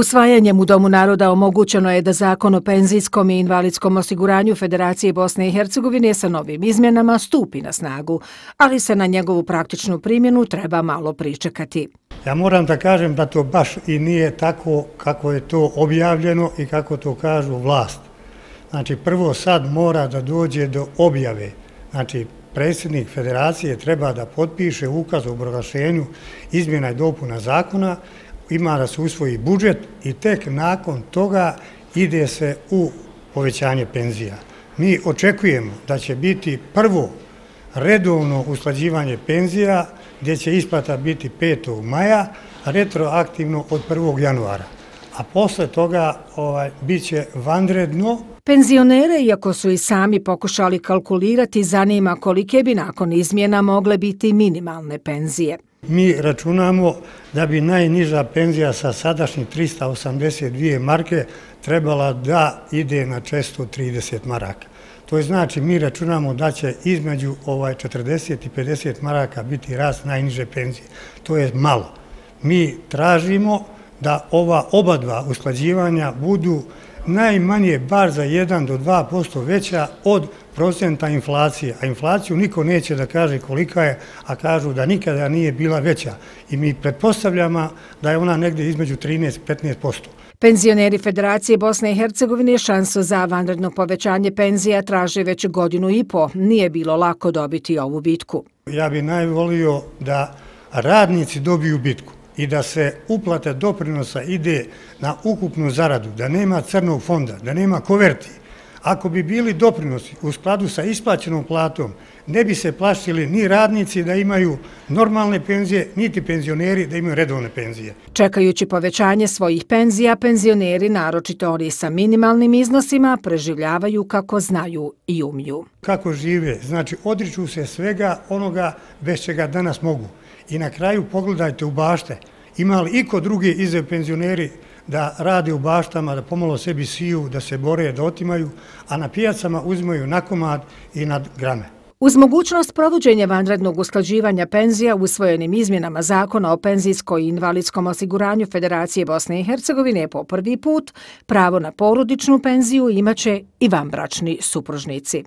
Usvajanjem u Domu naroda omogućeno je da Zakon o penzijskom i invalidskom osiguranju Federacije Bosne i Hercegovine sa novim izmjenama stupi na snagu, ali se na njegovu praktičnu primjenu treba malo pričekati. Ja moram da kažem da to baš i nije tako kako je to objavljeno i kako to kažu vlast. Znači, prvo sad mora da dođe do objave. Znači, predsjednik Federacije treba da potpiše ukaz o proglašenju izmjena i dopuna zakona, ima da se usvoji budžet i tek nakon toga ide se u povećanje penzija. Mi očekujemo da će biti prvo redovno usklađivanje penzija, gdje će isplata biti 5. maja, retroaktivno od 1. januara. A posle toga bit će vanredno. Penzionere, iako su i sami pokušali kalkulirati, zanima kolike bi nakon izmjena mogle biti minimalne penzije. Mi računamo da bi najniža penzija sa sadašnjih 382 marke trebala da ide na 430 maraka. To je znači mi računamo da će između 40 i 50 maraka biti rast najniže penzije. To je malo. Mi tražimo da oba dva usklađivanja budu najmanje bar za 1 do 2% veća od procenta inflacije. A inflaciju niko neće da kaže kolika je, a kažu da nikada nije bila veća. I mi pretpostavljamo da je ona negdje između 13 i 15%. Penzioneri Federacije Bosne i Hercegovine šansu za vanredno povećanje penzija traže već 1,5 godinu. Nije bilo lako dobiti ovu bitku. Ja bi najvolio da radnici dobiju bitku i da se uplata doprinosa ide na ukupnu zaradu, da nema crnog fonda, da nema koverti. Ako bi bili doprinosi u skladu sa isplaćenom platom, ne bi se plašili ni radnici da imaju normalne penzije, niti penzioneri da imaju redovne penzije. Čekajući povećanje svojih penzija, penzioneri, naročito oni sa minimalnim iznosima, preživljavaju kako znaju i umiju. Kako žive? Znači, odriču se svega onoga bez čega danas mogu. I na kraju pogledajte u bašte. Ima li iko drugi iza penzioneri da rade u baštama, da pomalo sebi siju, da se bore, da otimaju, a na pijacama uzimaju na komad i na grame. Uz mogućnost provođenja vanrednog usklađivanja penzija usvojenim izmjenama Zakona o penzijskom i invalidskom osiguranju Federacije Bosne i Hercegovine po prvi put, pravo na porodičnu penziju imaće i vanbračni supružnici.